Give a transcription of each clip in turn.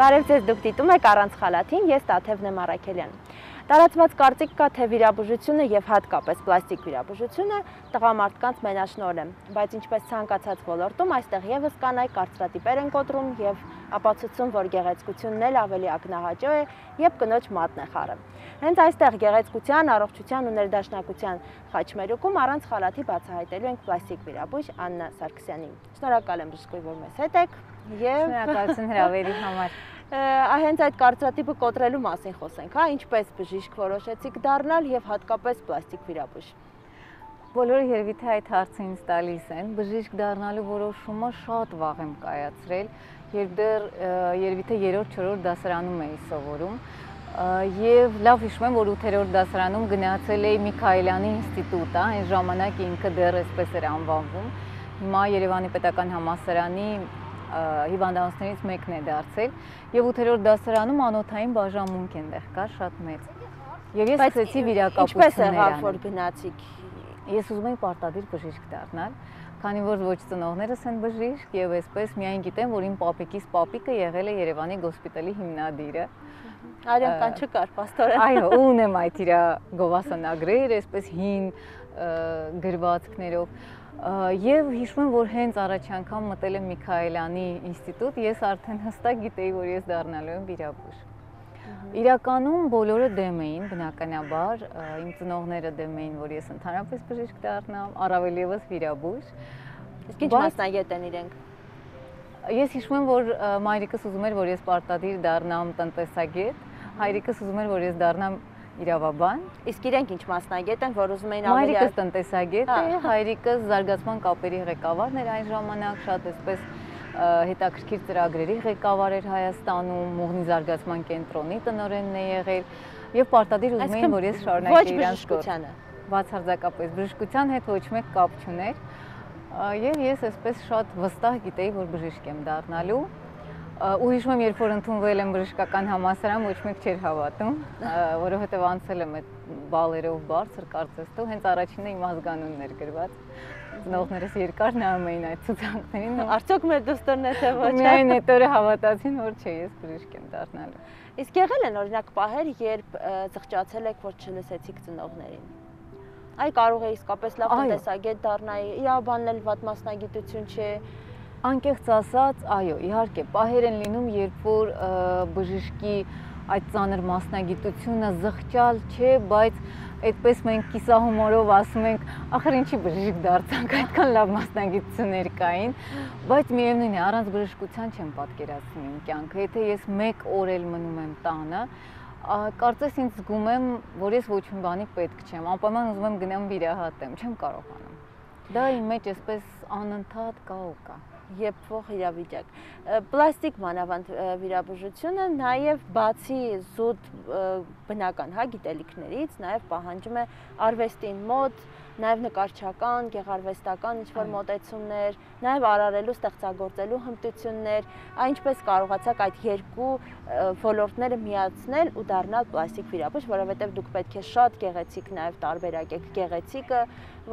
Բարև ձեզ, դուք դիտում եք առանց խալաթին, ես Տաթևն եմ Առաքելյան։ Տարածված կարծիք կա, թե վիրաբուժությունը եւ հատկապես պլաստիկ վիրաբուժությունը տղամարդկանց մենաշնորհ է, բայց ինչպես ցանկացած ոլորտում, այստեղ եւս կանայք կարծրատիպեր են կոտրում եւ ապացուցում, որ գեղեցկությունն էլ ավելի ակնահաճո է եւ կնոջ մատն է խառը։ Հենց այստեղ գեղեցկության, առողջության ու ներդաշնակության խաչմերուկում առանց խալաթի բացահայտելու ենք պլաստիկ վիրաբույժ Աննա Սարգսյանին։ Շնորհակալ եմ բժշկուհի, որ մեզ հետ եք եւ շնորհակալություն հրավերի համար։ Հենց այդ կարծրատիպը կոտրելու մասին խոսենք, հա, ինչպես բժիշկ որոշեցիք դառնալ եւ հատկապես պլաստիկ վիրաբույժ։ Բոլորը երևի թե այդ հարցը ինձ տալիս են, բժիշկ դառնալու որոշումը շատ վաղ եմ կայացրել, երբ դեռ երևի թե 3-4 դասարանում էի սովորում եւ լավ հիշում եմ, որ 8-րդ դասարանում գնացել էի Միքայելյանի ինստիտուտ, այն ժամանակ ինքը դեռ այսպես էր անվանվում, հիմա Երևանի պետական համալսարանի հիվանդանոցներից մեկն է դարձել եւ 8-րդ դասարանում անոթային բաժանմունք այնտեղ կար շատ մեծ։ Եվ ես սկսեցի վիրակապություններ անել։ Ինչպես եղավ, որ գնացիք։ Ես ուզում էի պարտադիր բժիշկ դառնալ, քանի որ ոչ ծնողներս են բժիշկ եւ այսպես միայն գիտեմ, որ իմ պապիկիս պապիկը եղել է Երևանի գոսպիտալի հիմնադիրը։ Արյանքան չկար, պաստորեն։ Այո, ունեմ այդ իր գովասանագրեր, այսպես հին գրվածքներով։ Եվ հիշում եմ, որ հենց առաջ անգամ մտել եմ Միքայելյանի ինստիտուտ, ես արդեն հստակ գիտեի, որ ես դառնալու եմ վիրաբույժ։ Իրականում բոլորը դեմ էին, բնականաբար, իմ ծնողները դեմ էին, որ ես ընդհանրապես բժիշկ դառնամ, առավել ևս վիրաբույժ։ Իսկ ինչ մասնագետ են իրենք։ Ես հիշում եմ, որ մայրիկս ուզում էր, որ ես պարտադիր դառնամ տնտեսագետ, հայրիկս ուզում էր, որ ես դառնամ իրավաբան։ Իսկ իրենք ինչ մասնագետ են, որ ուզում էին ավելի։ Մայրիկս տնտեսագետ է, հայրիկս զարգացման կապերի ղեկավարն էր այն ժամանակ, շատ այսպես հետաքրքիր ծրագրերի ղեկավար էր Հայաստանում, Մուղնի զարգացման կենտրոնի տնօրենն է եղել եւ պարտադիր ուզում էին, որ ես շարունակեի իրանց գործը։ Բացարձակապես բժշկության հետ ոչ մեկ կապ չուներ եւ ես այսպես շատ վստահ գիտեի, որ բժիշկ եմ դառնալու։ Ու հիշում եմ, երբ որ ընդունվել եմ բժշկական համալսարան, ոչ մեկ չէր հավատում, որովհետև անցել եմ այդ բալերով բարձր կարծես թե, հենց առաջինը իմ ազգանունն էր գրված։ Ծնողներս երկար նայում էին այդ ցուցակներին։ Արդյոք մեր դուստորն է թե ոչ։ Միայն այդ օրը հավատացին, որ չէ, ես բժիշկ եմ դառնալու։ Իսկ եղել են օրինակ պահեր, երբ զղջացել եք, որ չլսեցիք ծնողներին։ Այ կարող է իսկապես լավ տնտեսագետ դառնայի, իրավաբանն էլ վատ մասնագիտություն չէ։ Անկեղծ ասած, այո, իհարկե, պահեր են լինում, երբ որ բժշկի այդ ծանր մասնագիտությունը զղջալ չէ, բայց այդպես մենք կիսահումորով ասում ենք, ախր ինչի բժիշկ դարձանք, այդքան լավ մասնագիտություններ կային, բայց միևնույն է, առանց բժշկության չեմ պատկերացնում իմ կյանքը, եթե ես 1 օր էլ մնում եմ տանը, կարծես ինձ զգում եմ, որ ես ոչ մի բանի պետք չեմ, անպայման ուզում եմ գնամ վիրահատեմ, չեմ կարողանում։ Դա իմ մեջ այսպես անընդհատ կա ու կա։ Եփվող իրավիճակ։ Պլաստիկ մանավանդ վիրաբուժությունը նաև բացի զուտ բնական գիտելիքներից, նաև պահանջում է արվեստին մոտ, նաև նկարչական, գեղարվեստական ինչ-որ մոտեցումներ, նաև արարելու, ստեղծագործելու հմտություններ, ինչպես կարողացաք այդ երկու ոլորտները միացնել ու դառնալ պլաստիկ վիրաբույժ, որովհետև դուք պետք է շատ գեղեցիկ նաև տարբերակեք գեղեցիկը,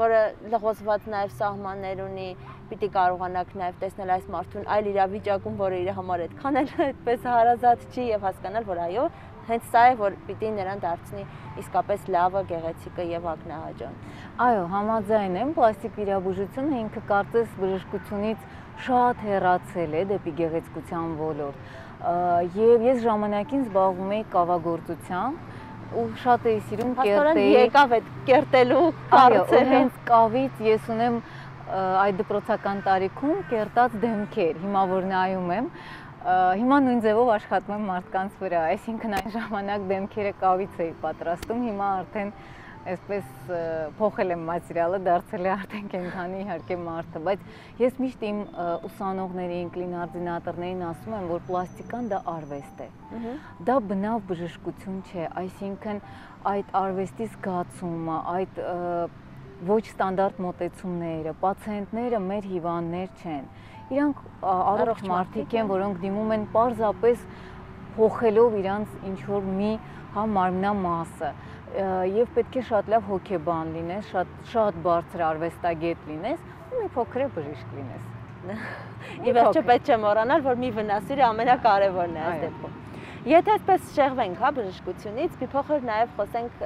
որը լղոզված նաև սահմաններ ունի, պիտի կարողանաք նաև տեսնել այս մարդուն այլ իրավիճակում, որը իր համար այդքան էլ այդպես հարազատ չի եւ հասկանալ, որ այո, հենց սա է, որ պիտի նրան դարձնի իսկապես լավը, գեղեցիկը եւ ակնահաճոն։ Այո, համաձայն եմ, պլաստիկ վիրաբուժությունը ինքը կարծես բժշկությունից շատ հեռացել է դեպի գեղեցկության ոլորտ։ Եվ ես ժամանակին զբաղվում էի կավագործությամբ ու շատ էի սիրում կերտել։ Եկավ այդ կերտելու կարծը։ Այո, հենց կավից ես ունեմ այդ դպրոցական տարիքում կերտած դեմքեր, հիմա որ նայում եմ, հիմա նույն ձևով աշխատում եմ մարդկանց վրա, այսինքն այն ժամանակ դեմքերը կավից էի պատրաստում, հիմա արդեն այսպես փոխել եմ մատերիալը, դարձել է արդեն կենդանի իհարկե մարդը, բայց ես միշտ իմ ուսանողներին, կլինարդինատորներին ասում եմ, որ պլաստիկան դա արվեստ է, դա բնավ բժշկություն չէ, այսինքն այդ արվեստի զգացումը, այդ ոչ ստանդարտ մոտեցումները, պացիենտները մեր հիվանդներ չեն, իրանք առողջ մարդիկ են, որոնք դիմում են պարզապես փոխելով իրանց ինչ-որ մի մարմնամասը եւ պետք է շատ լավ հոգեբան լինես, շատ բարձր արվեստագետ լինես ու մի փոքր բժիշկ լինես։ Ի վերջո պետք չէ մոռանալ, որ մի վնասիրը ամենակարևորն է այս դեպքում։ Եթե այսպես շեղվենք, հա, բժշկությունից, մի փոքր նաև խոսենք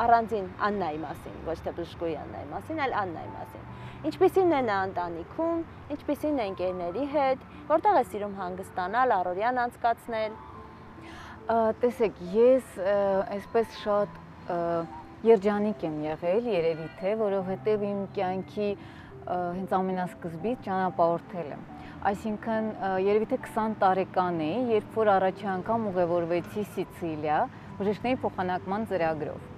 առանձին Աննայի մասին, ոչ թե բժշկուհի Աննայի մասին, այլ Աննայի մասին։ Ինչպիսին է նա ընտանիքում, ինչպիսին է ընկերների հետ, որտեղ է սիրում հանգստանալ, առօրյան անցկացնել։ Տեսեք, ես այսպես շատ երջանիկ եմ եղել, երևի թե, որովհետև իմ կյանքի հենց ամենասկզբից ճանապարհորդել եմ։ Այսինքն երևի թե 20 տարեկան էի, երբ որ առաջի անգամ ուղևորվեցի Սիցիլիա բժիշկների փոխանակման ծրագրով։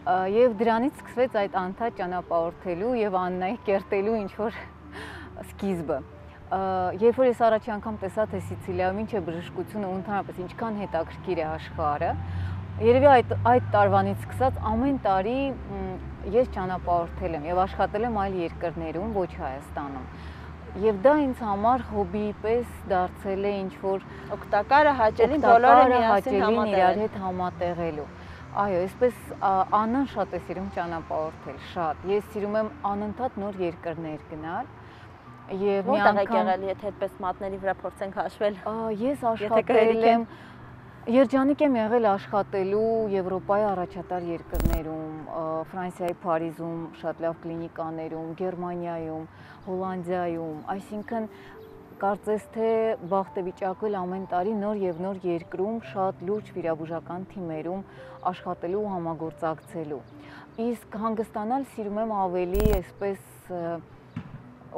Եվ դրանից սկսվեց այդ անընդհատ ճանապարհորդելու եւ Աննայի կերտելու ինչ որ սկիզբը։ Երբ որ ես առաջի անգամ տեսա թե Սիցիլիայում ինչ է բժշկությունը ու ընդհանրապես ինչքան հետաքրքիր է աշխարհը, երևի այդ տարվանից սկսած ամեն տարի ես ճանապարհորդել եմ եւ աշխատել եմ այլ երկրներում, ոչ Հայաստանում։ Եվ դա ինձ համար հոբբիի պես դարձել է ինչ որ օգտակարը, հաճելին, բոլորը միասին իրար հետ համատեղելու։ Այո, այսպես Աննան շատ է սիրում ճանապարհորդել, շատ։ Ես սիրում եմ անընդհատ նոր երկրներ գնալ։ Եվ մի անգամ եղել, եթե այդպես մատների վրա փորձենք հաշվել։ Ես աշխատել եմ, երջանիկ եմ եղել աշխատելու Եվրոպայի առաջատար երկրներում, Ֆրանսիայի Փարիզում, շատ լավ կլինիկաներում, Գերմանիայում, Հոլանդիայում, այսինքն կարծես թե բախտեվիճակը ամեն տարի նոր եւ նոր երկրում շատ լուրջ վիրաբուժական թիմերում աշխատելու ու համագործակցելու։ Իսկ հանգստանալ սիրում եմ ավելի այսպես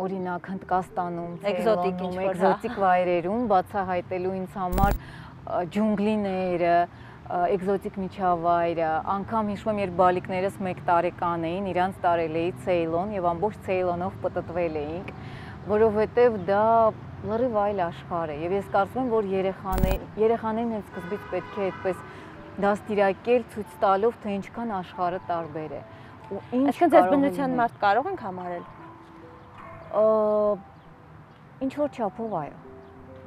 օրինակ Հնդկաստանում, էկզոտիկ վայրերում, բացահայտելու ինձ համար ջունգլիները, էկզոտիկ միջավայրը, անգամ հիշում եմ, երբ բալիկներս 1 տարեկան էին, իրանց տարել էի Ցեյլոն եւ ամբողջ Ցեյլոնով պտտվել էինք, որովհետեւ դա լրիվ այլ աշխարհ է եւ ես կարծում եմ, որ երեխաներին հենց սկզբից պետք է այդպես դաստիարակել, ցույց տալով, թե ինչքան աշխարհը տարբեր է ու ինչ Այսինքն ձեզ բնության մարդ կարող ենք համարել։ Ինչ որ չափով այո։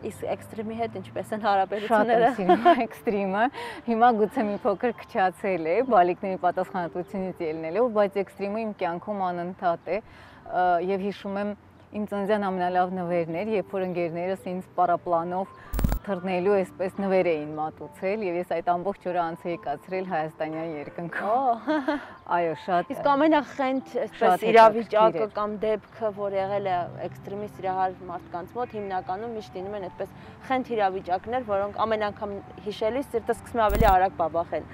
Իսկ էքստրեմի հետ ինչպես են հարաբերությունները։ Շատ եմ սիրում էքստրեմը։ Հիմա գուցե մի փոքր քչացել է, բալիկների պատասխանատվությունից ելնելով, բայց էքստրեմը իմ կյանքում անընդհատ է եւ հիշում եմ իմ ծննդյան ամենալավ նվերներ, երբ որ ընկերներս ինձ պարապլանով թռնելու այսպես նվեր էին մատուցել եւ ես այդ ամբողջ օրը անց էի կացրել հայաստանյան երկնքով։ Այո, շատ։ Իսկ ամենախենթ այսպես իրավիճակը կամ դեպքը, որ եղել է էքստրեմի սիրահար մարդկանց մոտ, հիմնականում միշտ լինում են այդպես խենթ իրավիճակներ, որոնք ամեն անգամ հիշելիս սիրտը սկսում է ավելի արագ բաբախել։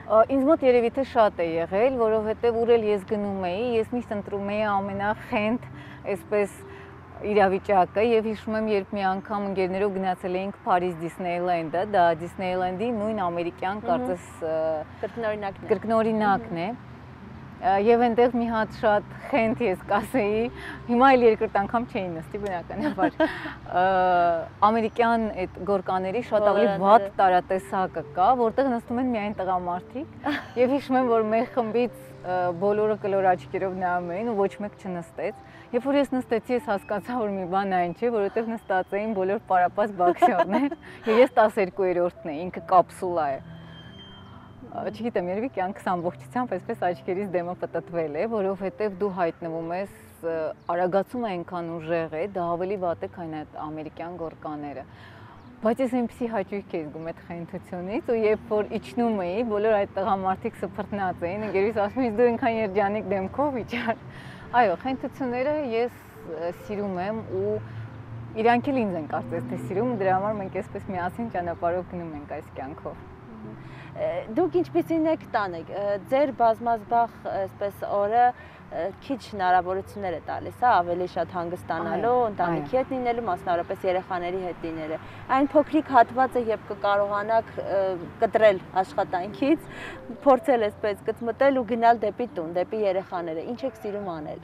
Ինձ մոտ երևի թե շատ է եղել, որովհետեւ ուր էլ ես գնում էի, ես միշտ ընտրում էի ամենախենթ այսպես իրավիճակը եւ հիշում եմ, երբ մի անգամ ընկերներով գնացել էինք Փարիզ Դիսնեյլենդը, դա Դիսնեյլենդի նույն ամերիկյան կարծես կրկնօրինակն է։ Եվ այնտեղ մի հատ շատ խենթ ես կասեի, հիմա էլ երկրորդ անգամ չէի նստի բնականաբար։ Ամերիկյան այդ գորկաների շատ ավելի վատ տարատեսակը կա, որտեղ նստում են միայն տղամարդիկ եւ հիշում եմ, որ մեր խմբից բոլորը կլոր աչքերով նայում էին ու ոչ մեկ չնստեց։ Երբ որ ես նստեցի, ես հասկացա, որ մի բան այն չէ, որովհետև նստած էին բոլոր պարապած բաքսյորներ եւ ես 12-րդն էի, ինքը կապսուլա է։ Չգիտեմ, երևի կյանքս ամբողջությամբ այսպես աչքերից դեմը պտտվել է, որովհետև դու հայտնվում ես արագացումը այնքան ուժեղ է, դա ավելի վատ է, քան այդ ամերիկյան գորկաները։ Բայց ես այնպեսի հաճույք էի զգում այդ խենթությունից ու երբ որ իջնում էի, բոլոր այդ տղամարդիկ սփռտնած էին, ընկերուհիս ասում էի դու այնքան երջանիկ դեմքով իջար։ Այո, խենթությունները ես սիրում եմ ու իրանք էլ ինձ են կարծես թե սիրում, դրա համար մենք այսպես միասին ճանապարհով գնում ենք այս կյանքով։ Դուք ինչպիսին եք տանը, ձեր բազմազբաղ այսպես օրը քիչ հնարավորություններ է տալիս, հա, ավելի շատ հանգստանալու, ընտանիքի հետ լինելու, մասնավորապես երեխաների հետ լինելու։ Այն փոքրիկ հատվածը, երբ կկարողանաք կտրել աշխատանքից, փորձել այսպես գծմտել ու գնալ դեպի տուն, դեպի երեխաները, ինչ եք սիրում անել։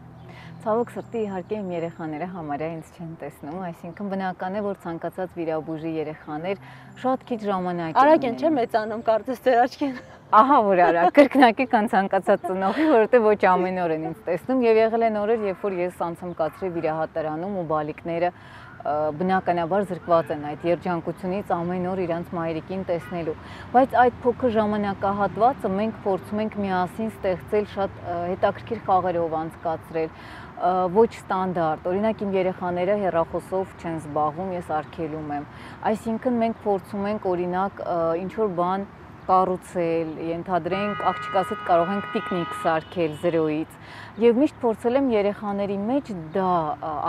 Ցավոք սրտի իհարկե իմ երեխաները համարյա ինձ չեն տեսնում, այսինքն բնական է, որ ցանկացած վիրաբույժի երեխաներ շատ քիչ ժամանակ են։ Արագ են չէ մեծանում, կարծես ձեր աչքին։ Ահա որ արագ, կրկնակի կան ցանկացած ծնողի, որովհետև ոչ ամեն օր են ինձ տեսնում եւ եղել են օրեր, երբ որ ես անցում կացրի վիրահատարանում ու բալիկները բնականաբար զրկված են այդ երջանկությունից ամեն օր իրանց մայրիկին տեսնելու, բայց այդ փոքր ժամանակահատվածը մենք փորձում ենք միասին ստեղծել շատ հետաքրքիր խաղերով անցկացրել, ոչ ստանդարտ։ Օրինակ իմ երեխաները հեռախոսով չեն զբաղվում, ես արգելում եմ։ Այսինքն մենք փորձում ենք օրինակ ինչ որ բան կառուցել, ենթադրենք աղջկաս հետ կարող ենք պիկնիկ սարքել 0-ից եւ միշտ փորձել եմ երեխաների մեջ դա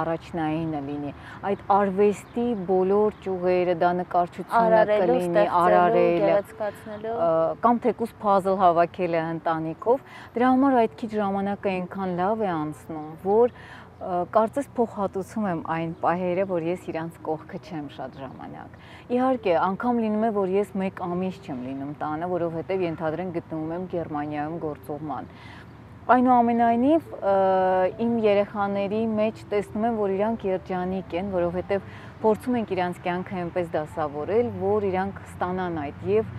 առաջնայինը լինի, այդ արվեստի բոլոր ճյուղերը, դա նկարչությունը կլինի, արարելը, կամ թեկուզ puzzle հավաքելը ընտանիքով, դրա համար այդ քիչ ժամանակը այնքան լավ է անցնում, որ կարծես փոխհատուցում եմ այն պահերը, որ ես իրանց կողքը չեմ շատ ժամանակ։ Իհարկե, անգամ լինում է, որ ես 1 ամիս չեմ լինում տանը, որովհետև ենթադրենք գտնվում եմ Գերմանիայում գործուղման։ Այնուամենայնիվ, իմ երեխաների մեջ տեսնում եմ, որ իրանք երջանիկ են, որովհետև փորձում ենք իրանց կյանքը այնպես դասավորել, որ իրանք ստանան այդ եւ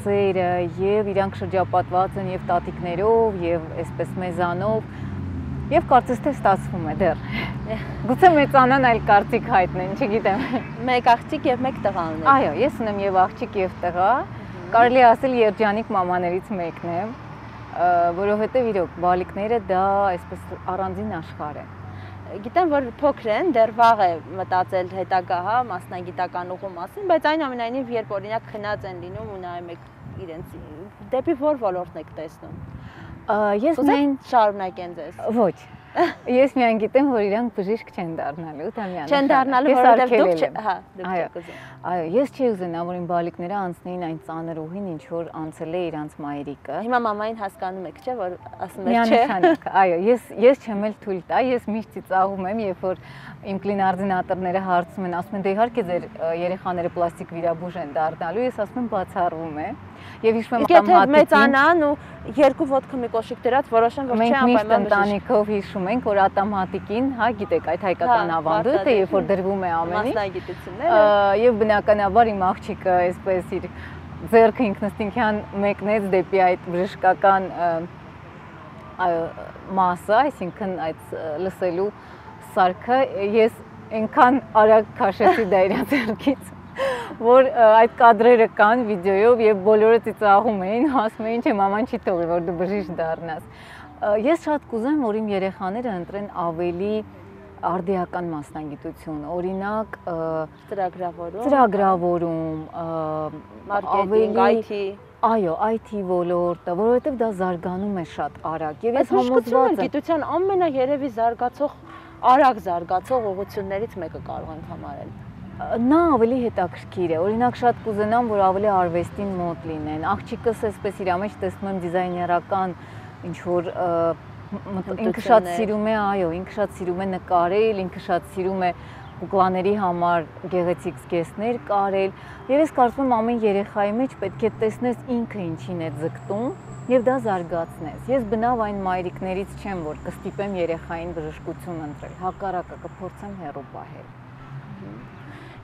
սերը, եւ իրանք շրջապատված են եւ տատիկներով, եւ այսպես մեզանով, եւ կարծես թե ստացվում է դեռ։ Գուցե մեծանան այլ կարծիք հայտնեն, չգիտեմ։ 1 աղջիկ եւ 1 տղա ունեք։ Այո, ես ունեմ եւ աղջիկ եւ տղա։ Կարելի ասել երջանիկ մամաներից մեկն եմ, որովհետեւ իրոք բալիկները դա այսպես առանձին աշխարհ է։ Գիտեմ, որ փոքր են, դեռ վաղ է մտածել հետագա, հա, մասնագիտական ուղու մասին, բայց այնուամենայնիվ երբ օրինակ քնած են լինում ու նայում եք իրենց դեպի որ ոլորտն եք տեսնում։ Ես միայն շարունակեն ձեզ։ Ոչ։ Ես միայն գիտեմ, որ իրանք բժիշկ չեն դառնալու, դա միանշանակ։ Չեն դառնալու, որովհետև դուք, հա, դուք եք ուզում։ Այո, ես չի ուզենա, որ իմ բալիկները անցնեին այն ծանր ուղին, ինչ որ անցել է իրանց մայրիկը։ Հիմա մամային հասկանում եք, չէ, որ ասում եք, չէ։ Միանշանակ, այո, ես չեմ էլ թույլ տա, ես միշտ ծիծաղում եմ, երբ որ իմ կլինարդինատորները հարցում են, ասում են, դե իհարկե ձեր երեխաները պլաստիկ վիրաբույժ են դառնալու, ես ասում եմ բացառվում է։ Եվ հիշում եմ ատամատիկին մեծանան ու 2 ոտքը մի կոշիկ դրած որոշեն, որ չէ անպայման բժիշկ։ Մենք միշտ ընտանիքով հիշում ենք, որ ատամատիկին, հա, գիտեք, այդ հայկական ավանդույթը, երբ որ դրվում է ամեն ինչ, մասնագիտությունները, եւ բնականաբար իմ աղջիկը այսպես իր ձեռքը ինքնըստինքյան մեկնեց դեպի այդ բժշկական մասը, այսինքն այդ լսելու սարքը, ես այնքան արագ քաշեցի դա իր ձեռքից, որ այդ կադրերը կան վիդեոյով եւ բոլորը ծիծաղում էին, ասում էին, չէ, մաման չի թողի, որ դու բժիշկ դառնաս։ Ես շատ կուզեմ, որ իմ երեխաները ընտրեն ավելի արդիական մասնագիտություն, օրինակ ծրագրավորում, մարքեթինգ, IT, այո, IT ոլորտը, որովհետև դա զարգանում է շատ արագ եւ ես համոզված եմ, գիտության ամենաերևի զարգացող, արագ զարգացող ուղղություններից մեկը կարող ենք համարել։ Նա ավելի հետաքրքիր է, օրինակ շատ կուզենամ, որ ավելի արվեստին մոտ լինեն, աղջիկս այսպես իր մեջ տեսնում եմ դիզայներական ինչ-որ ինքը շատ սիրում է, այո, ինքը շատ սիրում է նկարել, ինքը շատ սիրում է կուկլաների համար գեղեցիկ զգեստներ կարել եւ ես կարծում եմ ամեն երեխայի մեջ պետք է տեսնես ինքը ինչին է ձգտում եւ դա զարգացնես։ Ես բնավ այն մայրիկներից չեմ, որ կստիպեմ երեխային բժշկություն ընտրել, հակառակը կփորձեմ հեռու պահել։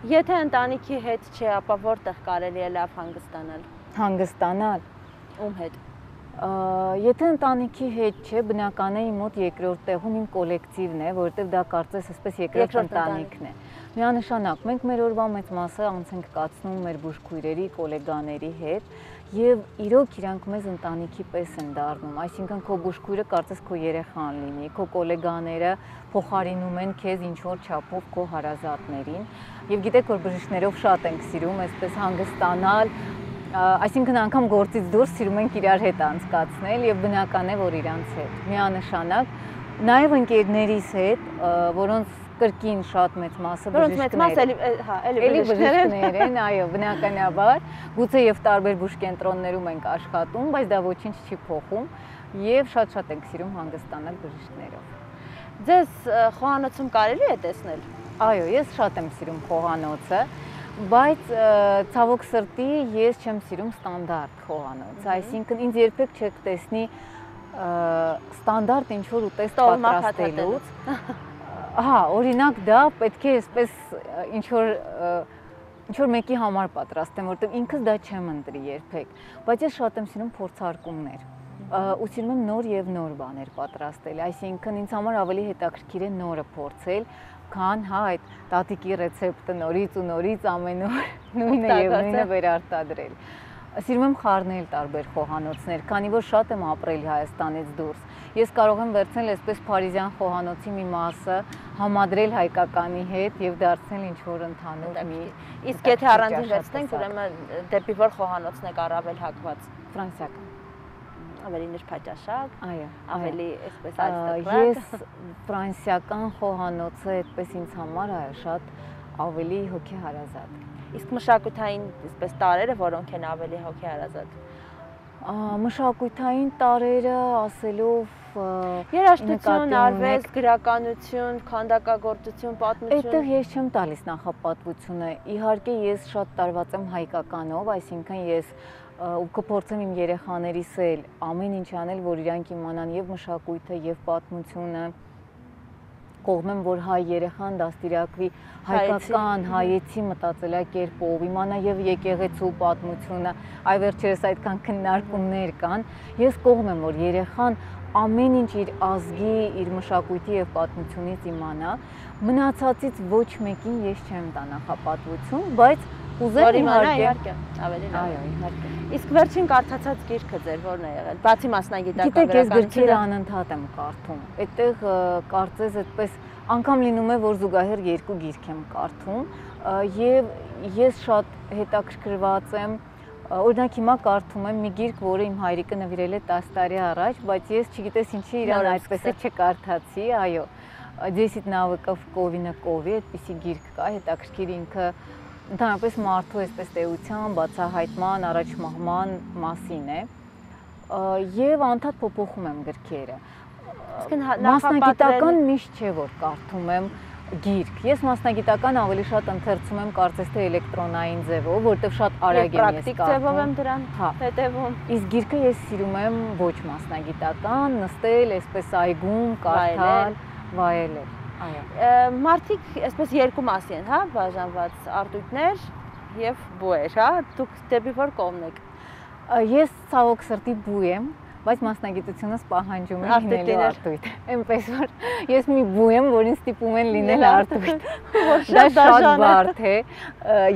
Եթե ընտանիքի հետ չէ, ապա որտեղ կարելի է լավ հանգստանալ։ Հանգստանալ ում հետ։ Եթե ընտանիքի հետ չէ, բնական է իմ մոտ երկրորդ տեղում իմ կոլեկտիվն է, որովհետև դա կարծես այսպես երկրորդ ընտանիքն է։ Միանշանակ, մենք մեր օրվա մեծ մասը անց ենք կացնում մեր բուժքույրերի, գոլեգաների հետ եւ իրոք իրանք մեզ ընտանիքի պես են դառնում, այսինքն քո բուժքույրը կարծես քո երեխան լինի, քո գոլեգաները փոխարինում են քեզ ինչ որ չափով քո հարազատներին եւ գիտեք որ բժիշկներով շատ ենք սիրում այսպես հանգստանալ, այսինքն անգամ գործից դուրս սիրում ենք իրար հետ անցկացնել եւ բնական է որ իրանց հետ միանշանակ նաեւ ընկերներիս հետ, որոնց կրկին շատ մեծ մասը բժիշկներ են, այո, բնականաբար, գուցե եւ տարբեր բուժկենտրոններում ենք աշխատում, բայց դա ոչինչ չի փոխում եւ շատ ենք սիրում հանգստանալ բժիշկներով։ Ձեզ խոհանոցում կարելի է տեսնել։ Այո, ես շատ եմ սիրում խոհանոցը, բայց ցավոք սրտի ես չեմ սիրում ստանդարտ խոհանոց, այսինքն ինձ երբեք չեք տեսնի ստանդարտ ինչ որ ուտեստ պատրաստելուց։ Հա, օրինակ դա պետք է այսպես ինչ որ մեկի համար պատրաստեմ, որտեղ ինքս դա չեմ ընտրի երբեք, բայց ես շատ եմ սիրում փորձարկումներ։ Ու սիրում եմ նոր եւ նոր բաներ պատրաստել, այսինքն ինձ համար ավելի հետաքրքիր է նորը փորձել, քան հա այդ տատիկի ռեցեպտը նորից ու նորից ամեն օր նույնը եւ նույնը վերարտադրել։ Սիրում եմ խառնել տարբեր խոհանոցներ, քանի որ շատ եմ ապրել Հայաստանից դուրս ես կարող եմ վերցնել այսպես Փարիզյան խոհանոցի մի մասը, համադրել հայկականի հետ եւ դարձնել ինչ որ ընդհանուր մի։ Իսկ եթե առանձին վերցնենք, ուրեմն դեպի որ խոհանոցն եք առավել հակված։ Ֆրանսիական։ Ավելի նրբաճաշակ, այո, ավելի այսպես արիստոկրատ։ Ես ֆրանսիական խոհանոցը այդպես ինձ համար այո շատ ավելի հոգեհարազատ։ Իսկ մշակութային այսպես տարերը որոնք են ավելի հոգեհարազատ։ Մշակութային տարերը ասելով երաժշտություն, արվեստ, գրականություն, քանդակագործություն, պատմություն։ Այդտեղ ես չեմ տալիս նախապատվությունը։ Իհարկե ես շատ տարված եմ հայկականով, այսինքն ես ու կփորձեմ իմ երեխաներիս էլ ամեն ինչ անել, որ իրանք իմանան եւ մշակույթը եւ պատմությունը, կողմեմ, որ հայ երեխան դաստիարակվի հայկական, հայեցի մտածելակերպով, իմանա եւ եկեղեցու պատմությունը, այ վերջերս այդքան քննարկումներ կան, ես կողմ եմ, որ երեխան ամեն ինչ իր ազգի, իր մշակույթի եւ պատմությունից իմանա, մնացածից ոչ մեկին ես չեմ տա նախապատվություն, բայց ուզեմ իհարկե ավելի լավ։ Այո, իհարկե։ Իսկ վերջին կարդացած գիրքը ձեր ո՞րն է եղել։ Բացի մասնագիտական գրականությունը։ Գիտեք, ես գրքերը անընդհատ եմ կարդում։ Այդտեղ կարծես այդպես անգամ լինում է, որ զուգահեռ երկու գիրք եմ կարդում, եւ ես շատ հետաքրքրված եմ։ Օրինակ հիմա կարդում եմ մի գիրք, որը իմ հայրիկը նվիրել է 10 տարի առաջ, բայց ես չգիտես ինչի իրան այդպես չկարդացի, այո։ 10 навыков Ковина Ковի, այդպիսի գիրք կա, հետաքրքիր ինքը ընդհանրապես մարդու այսպես տեության, բացահայտման, առաջմահման մասին է, եւ անդադ փոփոխում եմ գրքերը։ Մասնագիտական միշտ չէ, որ կարդում եմ գիրք։ Ես մասնագիտական ավելի շատ ընթերցում եմ կարծես թե էլեկտրոնային ձևով, որտեղ շատ արագ եմ ես կարդում։ Պրակտիկ ձևով եմ դրան հետևում։ Իսկ գիրքը ես սիրում եմ ոչ մասնագիտական, նստել, այսպես այգում, կարդալ, վայելել։ Այո։ Մարդիկ այսպես երկու մասի են, հա, բաժանված արտույտներ եւ բուեր, հա, դուք դեպի որ կողմն եք։ Ես ցավոք սրտի բու եմ, բայց մասնագիտությունս պահանջում է լինելու արտույտ։ Էնպես որ ես մի բու եմ, որին ստիպում են լինել արտույտ։ Դա շատ բարդ է։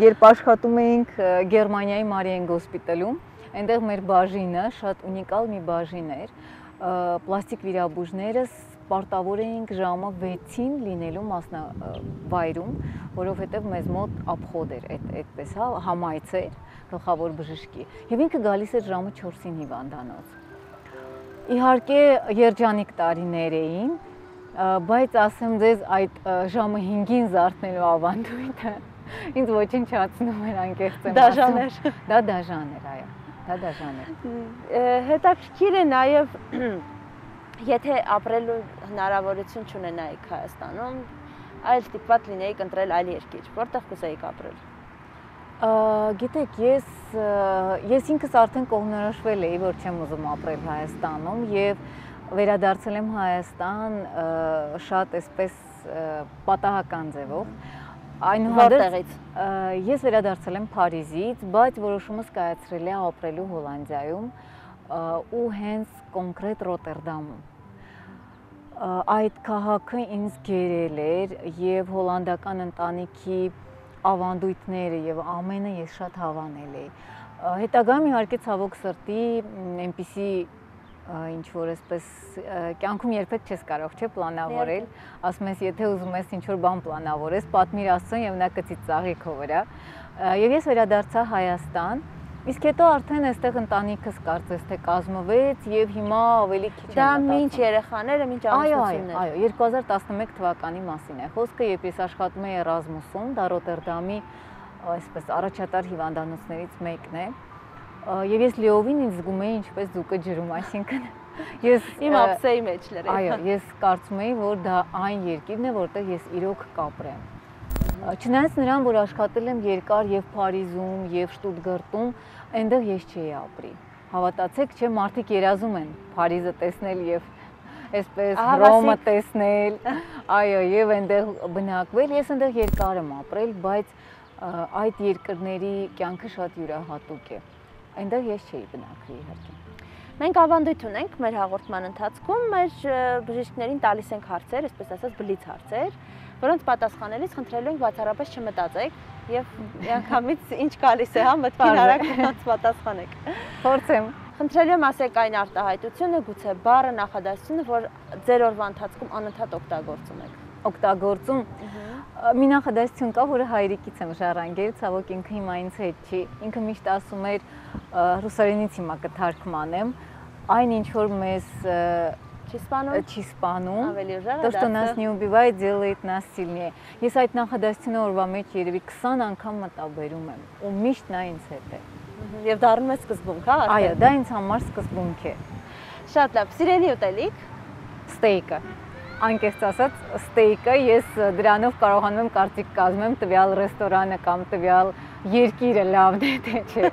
Երբ աշխատում էինք Գերմանիայի Մարիեն գոսպիտալում, այնտեղ մեր բաժինը շատ ունիկալ մի բաժին էր։ Պլաստիկ վիրաբույժները պարտավոր էինք ժամը 6-ին լինելու մասնավայրում, որովհետև մեզ մոտ ապխոդ էր, այդպես հա, համայց էր, գլխավոր բժշկի, եւ ինքը գալիս էր ժամը 4-ին հիվանդանոց։ Իհարկե երջանիկ տարիներ էին, բայց ասեմ ձեզ այդ ժամը 5-ին զարթնելու ավանդույթը ինձ ոչնչացնում էր անկեղծ եմ ասում։ Դաժան էր։ Դա դաժան էր, այո, դա դաժան էր։ Հետաքրքիր է նաեւ եթե ապրելու հնարավորություն չունենայիք Հայաստանում, այլ ստիպված լինեիք ընտրել այլ երկիր, որտեղ կուզեիք ապրել։ Գիտեք, ես ինքս արդեն կողմնորոշվել էի, որ չեմ ուզում ապրել Հայաստանում եւ վերադարձել եմ Հայաստան շատ այսպես պատահական ձևով։ Որտեղից։ Ես վերադարձել եմ Փարիզից, բայց որոշումս կայացրել եմ ապրելու Հոլանդիայում ու հենց կոնկրետ Ռոտերդամում։ Այդ քաղաքը ինձ գերել էր եւ հոլանդական ընտանիքի ավանդույթները եւ ամենը ես շատ հավանել էի։ Հետագայում իհարկե ցավոք սրտի այնպիսի ինչ որ այսպես կյանքում երբեք չես կարող չէ պլանավորել, ասում ես եթե ուզում ես ինչ որ բան պլանավորես, պատմիր Աստծուն եւ նա կծիծաղի քո վրա։ Եվ ես վերադարձա Հայաստան, իսկ հետո արդեն այստեղ ընտանիքս կարծես թե կազմվեց եւ հիմա ավելի քիչ եմ մտածում։ Դա ինչ երեխաները, ինչ ամուսնություններ։ Այո, 2011 թվականի մասին է խոսքը, երբ ես աշխատում էի Էրազմուսում, դա Ռոտերդամի այսպես առաջատար հիվանդանոցներից մեկն է։ Եվ ես լիովին ինձ զգում էի ինչպես ձուկը ջրում, այսինքն ես իմ ապսեի մեջ լրիվ։ Այո, ես կարծում էի, որ դա այն երկիրն է, որտեղ ես իրոք կապրեմ։ Չնայած նրան, որ աշխատել եմ երկար եւ Փարիզում եւ Շտուտգարտում, այնտեղ ես չէի ապրի։ Հավատացեք, չէ, մարդիկ երազում են Փարիզը տեսնել եւ այսպես Ռոմը տեսնել, այո, եւ այնտեղ բնակվել։ Ես այնտեղ երկար եմ ապրել, բայց այդ երկրների կյանքը շատ յուրահատուկ է։ Այնտեղ ես չէի բնակվի իհարկե։ Մենք ավանդույթ ունենք մեր հաղորդման ընթացքում, մեր բժիշկներին տալիս ենք հարցեր, այսպես ասած բլից հարցեր, որոնց պատասխանելիս խնդրելու ենք բացառապես չմտածեք եւ միանգամից ինչ գալիս է, հա, մտքին արագ պատասխանեք։ Փորձեմ։ Խնդրելու եմ ասեք այն արտահայտությունը, գուցե բառը, նախադասությունը, որ ձեր օրվա ընթացքում անընդհատ օգտագործում եք։ Օգտագործում մի նախադասություն կա, որը հայրիկից եմ ժառանգել, ցավոք ինքը հիմա ինձ հետ չի։ Ինքը мիշտ ասում էր ռուսերենից հիմա կթարգմանեմ, այն ինչ որ մեզ չի սպանում, ավելի то, что нас не убивает, делает нас сильнее։ Ես այդ նախադասությունը օրվա մեջ երևի 20 անգամ մտաբերում եմ, ու միշտ նա ինձ հետ է։ Եվ դառնում է սկզբունք, հա։ Այո, դա ինձ համար սկզբունք է։ Շատ լավ, սիրելի ուտելիք։ Ստեյկը։ Անկեղծ ասած, ստեյկը ես դրանով կարողանում եմ կարծիք կազմեմ տվյալ ռեստորանը կամ տվյալ երկիրը լավն է թե չէ։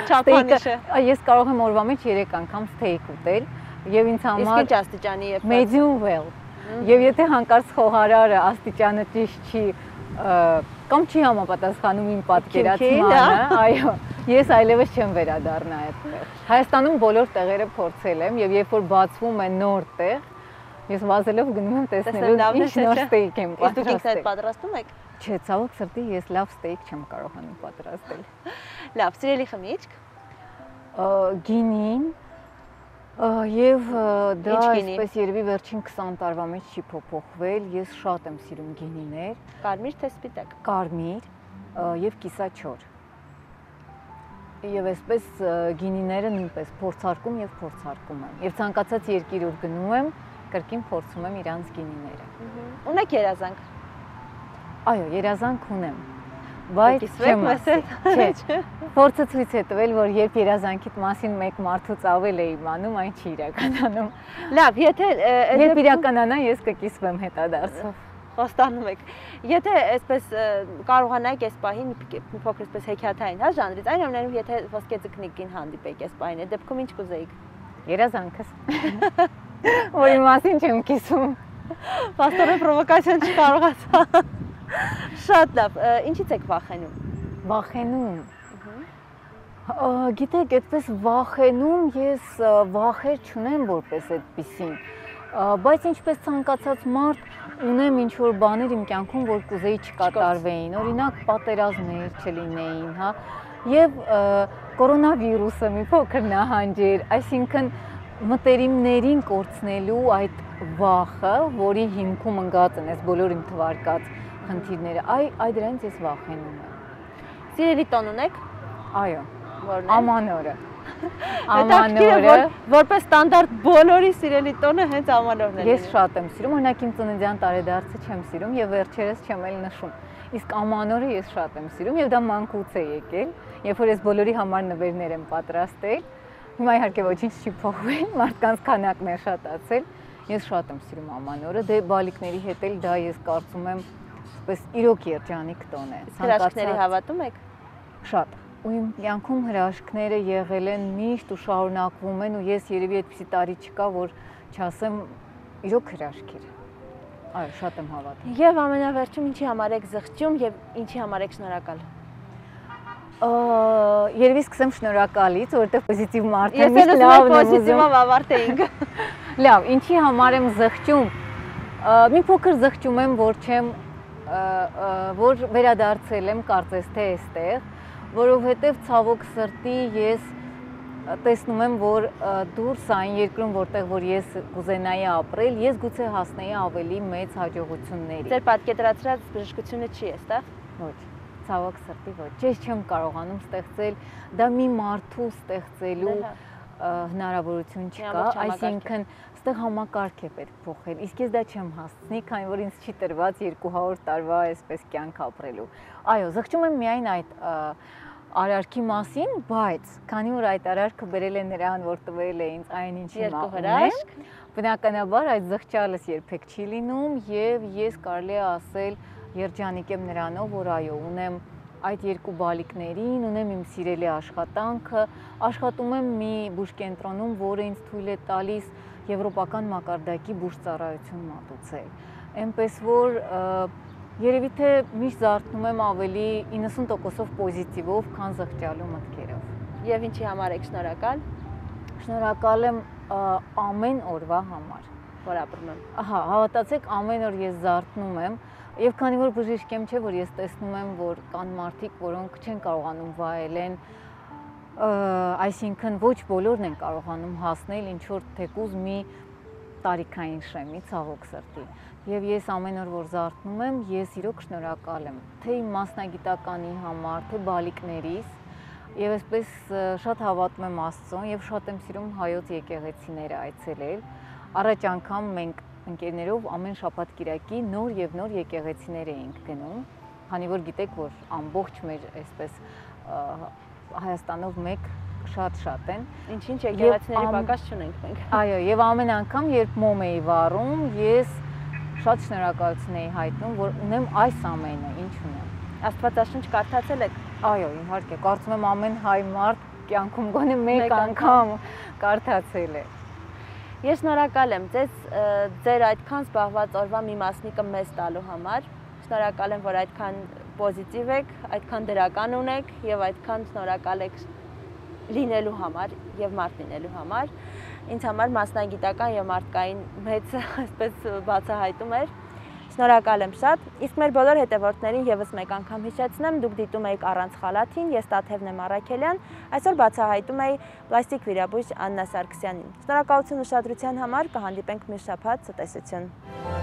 Չափանիշը։ Ես կարող եմ օրվա մեջ 3 անգամ ստեյկ ուտել եւ ինձ համար Իսկ ինչ աստիճանի է։ Medium well։ Եվ եթե հանկարծ խոհարարը աստիճանը ճիշտ չի կամ չի համապատասխանում իմ պատկերացմանը, այո, ես այլևս չեմ վերադառնա այդտեղ։ Հայաստանում բոլոր տեղերը փորձել եմ եւ երբ որ բացվում է նոր տեղ, ես վազելով գնում եմ տեսնելու ինչ նոր ստեյք եմ պատրաստել։ Իսկ դուք ինքներդ պատրաստում եք։ Չէ, ցավոք սրտի ես լավ ստեյք չեմ կարողանում պատրաստել։ Լավ, սիրելի խմիչք։ Գինին եւ դա այսպես երևի վերջին 20 տարվա մեջ չի փոփոխվել։ Ես շատ եմ սիրում գինիներ։ Կարմիր թե սպիտակ։ Կարմիր եւ կիսաչոր։ Եվ այսպես գինիները նույնպես փորձարկում եմ եւ ցանկացած երկիր ուր գնում եմ կրկին փորձում եմ իրանց գինիները։ Ունեք երազանք։ Այո, երազանք ունեմ։ Բայց չեմ ասել։ Չէ։ Փորձը ցույց է տվել, որ երբ երազանքիդ մասին մեկ մարդուց ավել է իմանում, այն չի իրականանում։ Լավ, եթե երբ իրականանա, ես կկիսվեմ հետադարձով։ Խոստանում եք։ Եթե այսպես կարողանայիք այս պահին մի փոքր այսպես հեքիաթային, հա, ժանրից, այնուամենայնիվ եթե ոսկե ձկնիկին հանդիպեիք այս պահին, այդ դեպքում ինչ կուզեիք։ Երազանքս։ Որի մասին չեմ կիսում։ Պաստորը պրովոկացիան չկարողացա։ Շատ լավ, ինչից եք վախենում։ Վախենում։ Գիտեք, այդպես վախենում ես վախեր չունեմ որպես այդպիսին, բայց ինչպես ցանկացած մարդ ունեմ ինչ որ բաներ իմ կյանքում, որ կուզեի չկատարվեին, օրինակ պատերազմներ չլինեին, հա, եւ կորոնավիրուսը մի փոքր նահանջեր, այսինքն մտերիմներին կորցնելու այդ վախը, որի հիմքում ընկած են այս բոլոր իմ թվարկած խնդիրները, այ դրանից ես վախենում եմ։ Սիրելի տոն ունեք։ Այո։ Որն է։ Ամանորը։ Ամանորը, որպես ստանդարտ բոլորի սիրելի տոնը հենց ամանորն է։ Ես շատ եմ սիրում, օրինակ իմ ծննդյան տարեդարձը չեմ սիրում եւ վերջերս չեմ էլ նշում։ Իսկ ամանորը ես շատ եմ սիրում եւ դա մանկուց է եկել, երբ որ ես բոլորի համար նվերներ եմ պատրաստել։ Հիմա իհարկե ոչինչ չի փոխվել, մարդկանց քանակն է շատացել։ Ես շատ եմ սիրում ամանորը, դե բալիկների հետ էլ դա ես կարծում եմ այսպես իրոք երջանիկ տոն է։ Հրաշքների հավատում եք։ Շատ։ Ու իմ կյանքում հրաշքները եղել են միշտ ու շարունակվում են ու ես երևի այդպիսի տարի չկա, որ չասեմ իրոք հրաշք էր։ Այո, շատ եմ հավատում։ Եվ ամենավերջում ինչի համար եք զղջում եւ ինչի համար եք շնորհակալ։ Երևի սկսեմ շնորհակալից, որովհետեւ պոզիտիվ մարդ եմ, միշտ լավն է պոզիտիվով ավարտեինք։ Լավ, ինչի համար եմ զղջում։ Մի փոքր զղջում եմ, որ վերադարձել եմ կարծես թե այստեղ, որովհետև ցավոք սրտի ես տեսնում եմ, որ դուրս այն երկրում, որտեղ որ ես կուզենայի ապրել, ես գուցե հասնեի ավելի մեծ հաջողությունների։ Ձեր պատկերացրած բժշկությունը չի էստեղ։ Ոչ, ցավոք սրտի ոչ։ Ես չեմ կարողանում ստեղծել, դա մի մարդու ստեղծելու հնարավորություն չկա, այսինքն այստեղ համակարգ է պետք փոխել։ Իսկ ես դա չեմ հասցնի, քանի որ ինձ չի տրված 200 տարվա այսպես կյանք ապրելու։ Այո, զղջում եմ միայն այդ արարքի մասին, բայց քանի որ այդ արարքը բերել է նրան, որ տվել է ինձ այն ինչ հիմա ունեմ, բնականաբար այդ զղջալս երբեք չի լինում եւ ես կարելի է ասել երջանիկ եմ նրանով, որ այո, ունեմ այդ երկու բալիկներին, ունեմ իմ սիրելի աշխատանքը, աշխատում եմ մի բուժկենտրոնում, որը ինձ թույլ է տալիս եվրոպական մակարդակի բուժծառայություն մատուցել։ Այնպես որ երևի թե միշտ զարթնում եմ ավելի 90%-ով պոզիտիվով, քան զղջալու մտքերով։ Եվ ինչի համար եք շնորհակալ։ Շնորհակալ եմ ամեն օրվա համար, որ ապրում եմ։ Ահա, հավատացեք, ամեն օր ես զարթնում եմ, եւ քանի որ բժիշկ եմ, չէ, որ ես տեսնում եմ, որ կան մարդիկ, որոնք չեն կարողանում վայելեն Այսինքն ոչ բոլորն են կարողանում հասնել ինչ որ թեկուզ մի տարիքային շեմի, ցավոք սրտի։ Եվ ես ամեն օր որ զարթնում եմ, ես իրոք շնորհակալ եմ թե իմ մասնագիտականի համար, թե բալիկներիս, եւ այսպես շատ հավատում եմ Աստծուն եւ շատ եմ սիրում հայոց եկեղեցիները այցելել։ Առաջ անգամ մենք ընկերներով ամեն շաբաթ կիրակի նոր եւ նոր եկեղեցիներ էինք գնում, քանի որ գիտեք, որ ամբողջ մեր այսպես Հայաստանով մեկ շատ են։ Ինչ եկեղեցիների պակաս չունենք մենք։ Այո, եւ ամեն անգամ, երբ մոմ էի վառում, ես շատ շնորհակալություն էի հայտնում, որ ունեմ այս ամենը, ինչ ունեմ։ Աստվածաշունչ կարդացել եք։ Այո, իհարկե, կարծում եմ ամեն հայ մարդ կյանքում գոնե մեկ անգամ կարդացել է։ Ես շնորհակալ եմ ձեզ ձեր այդքան զբաղված օրվա մի մասնիկը մեզ տալու համար։ Շնորհակալ եմ, որ այդքան պոզիտիվ եք, այդքան դրական ունեք եւ այդքան շնորհակալ եք լինելու համար եւ մարդ լինելու համար։ Ինձ համար մասնագիտական եւ մարդկային մեծ այսպես բացահայտում էր։ Շնորհակալ եմ շատ։ Իսկ մեր բոլոր հետևորդներին եւս մեկ անգամ հիշեցնեմ, դուք դիտում եք առանց խալաթին, ես Տաթևն եմ Առաքելյան, այսօր բացահայտում էի պլաստիկ վիրաբույժ Աննա Սարգսյանին։ Շնորհակալություն ուշադրության համար, կհանդիպենք մյուս շաբաթ, ցտեսություն։